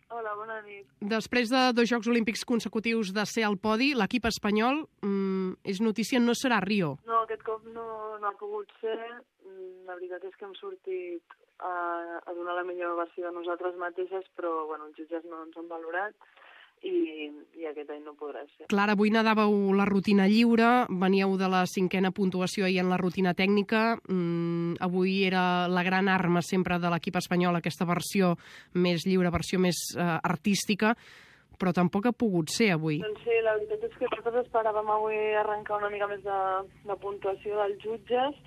Hola, bona nit. Després de 2 Jocs Olímpics consecutius de ser al podi, l'equip espanyol és notícia, no serà a Rio. No, aquest cop no ha pogut ser. La veritat és que hem sortit a donar la millor versió de nosaltres mateixes, però els jutges no ens han valorat i aquest any no podrà ser. Clar, avui nedàveu la rutina lliure, veníeu de la 5a puntuació ahir en la rutina tècnica. Avui era la gran arma sempre de l'equip espanyol, aquesta versió més lliure, versió més artística, però tampoc ha pogut ser avui. Doncs sí, la veritat és que nosaltres esperàvem avui arrencar una mica més de puntuació dels jutges.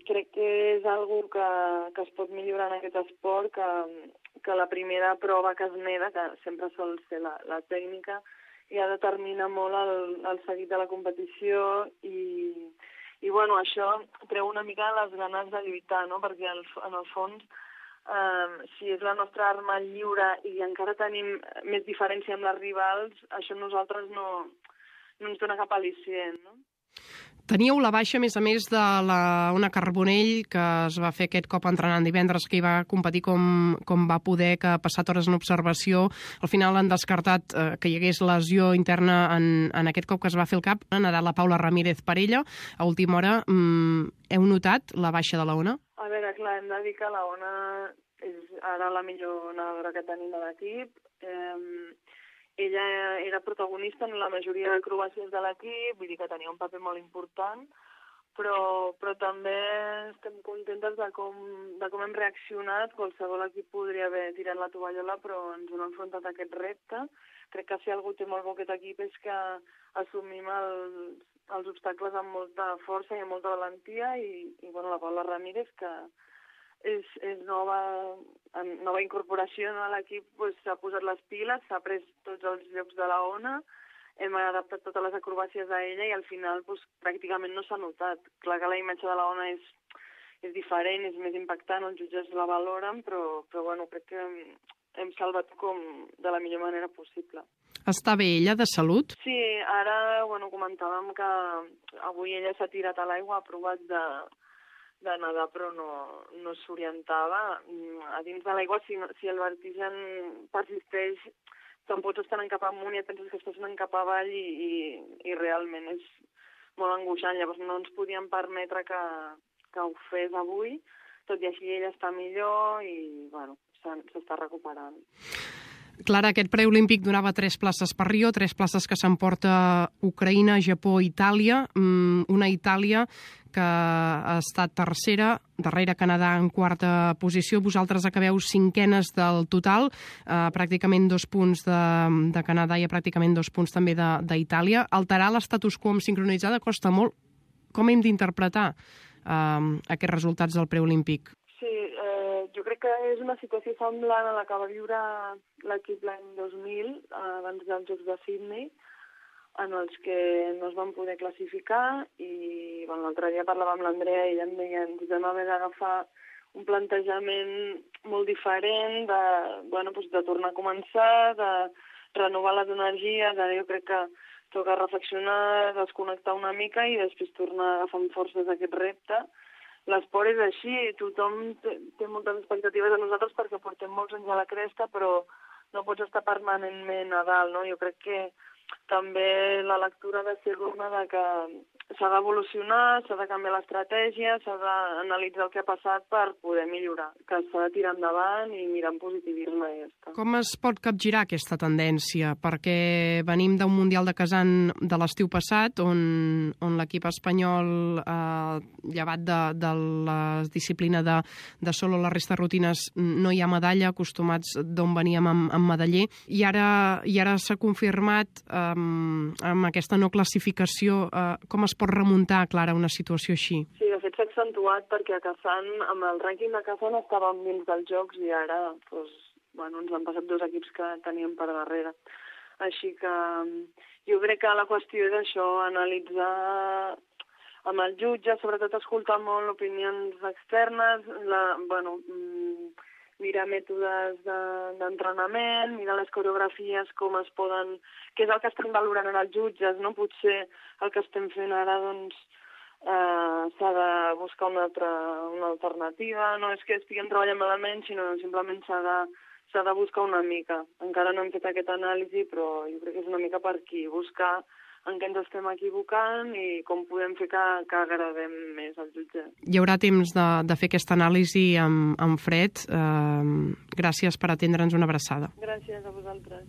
Crec que és algo que es pot millorar en aquest esport, que la primera prova que es neda, que sempre sol ser la tècnica, ja determina molt el seguit de la competició i això treu una mica les ganes de lluitar, no? Perquè en el fons, si és la nostra arma lliure i encara tenim més diferència amb les rivals, això a nosaltres no ens dona cap al·licient, no? Teníeu la baixa, a més de l'Ona Carbonell, que es va fer aquest cop entrenant divendres, que hi va competir com va poder, que ha passat hores en observació. Al final han descartat que hi hagués lesió interna en aquest cop que es va fer el cap. Ha nedat la Paula Ramírez per ella. A última hora, heu notat la baixa de l'Ona? A veure, clar, hem de dir que l'Ona és ara la millor nedadora que tenim a l'equip. Ella era protagonista en la majoria d'acrobàcies de l'equip, vull dir que tenia un paper molt important, però també estem contentes de com hem reaccionat. Qualsevol equip podria haver tirat la tovallola, però ens hem enfrontat a aquest repte. Crec que si algú té molt bo aquest equip és que assumim els obstacles amb molta força i amb molta valentia i la Paula Ramírez, que és nova incorporació a l'equip, s'ha posat les piles, s'ha pres tots els llocs de la Ona, hem adaptat totes les acrobàcies a ella i al final pràcticament no s'ha notat. Clar que la imatge de la Ona és diferent, és més impactant, els jutges la valoren, però crec que hem salvat com de la millor manera possible. Està bé ella de salut? Sí, ara comentàvem que avui ella s'ha tirat a l'aigua, ha provat de nedar, però no s'orientava. A dins de l'aigua, si el vertigen persisteix, te'n pots estar anant cap amunt i et penses que estàs anant cap avall i realment és molt angoixant. Llavors no ens podíem permetre que ho fes avui, tot i així ella està millor i s'està recuperant. Clara, aquest preolímpic donava 3 places per Rio, 3 places que s'emporta Ucraïna, Japó i Itàlia. Una Itàlia que ha estat tercera, darrere Canadà en 4a posició. Vosaltres acabeu 5enes del total, pràcticament 2 punts de Canadà i pràcticament 2 punts també d'Itàlia. Alterar l'estatus quo amb sincronitzada costa molt. Com hem d'interpretar aquests resultats del preolímpic? Sí, jo crec que és una situació semblant a la que va viure l'equip l'any 2000, abans dels Jocs de Sydney, en els que no es van poder classificar i l'altre dia parlava amb l'Andrea i ella em deia que ens vam haver d'agafar un plantejament molt diferent de tornar a començar, de renovar les energies. Ara jo crec que toca reflexionar, desconnectar una mica i després tornar a agafar amb forces aquest repte. L'esport és així, tothom té moltes expectatives de nosaltres perquè portem molts anys a la cresta, però no pots estar permanentment a dalt, no? Jo crec que també la lectura ha de ser una de que s'ha d'evolucionar, s'ha de canviar l'estratègia, s'ha d'analitzar el que ha passat per poder millorar, que s'ha de tirar endavant i mirar en positivisme i ja està. Com es pot capgirar aquesta tendència? Perquè venim d'un Mundial de Kazan de l'estiu passat, on l'equip espanyol, llevat de la disciplina de solo la resta de rutines, no hi ha medalla, acostumats d'on veníem amb medaller, i ara s'ha confirmat amb aquesta no classificació. Com es pot remuntar, Clara, una situació així? Sí, de fet s'ha accentuat perquè a Kazan, amb el rànquing de Kazan estàvem dins dels Jocs i ara ens han passat 2 equips que teníem per darrere. Així que jo crec que la qüestió és això, analitzar amb el jutge, sobretot escoltar molt opinions externes, mirar mètodes d'entrenament, mirar les coreografies, com es poden... què és el que estan valorant els jutges, no? Potser el que estem fent ara, s'ha de buscar una alternativa. No és que estiguem treballant malament, sinó simplement s'ha s'ha de buscar una mica. Encara no hem fet aquesta anàlisi, però jo crec que és una mica per aquí, buscar en què ens estem equivocant i com podem fer que agradem més al jutge. Hi haurà temps de fer aquesta anàlisi amb fred. Gràcies per atendre'ns, una abraçada. Gràcies a vosaltres.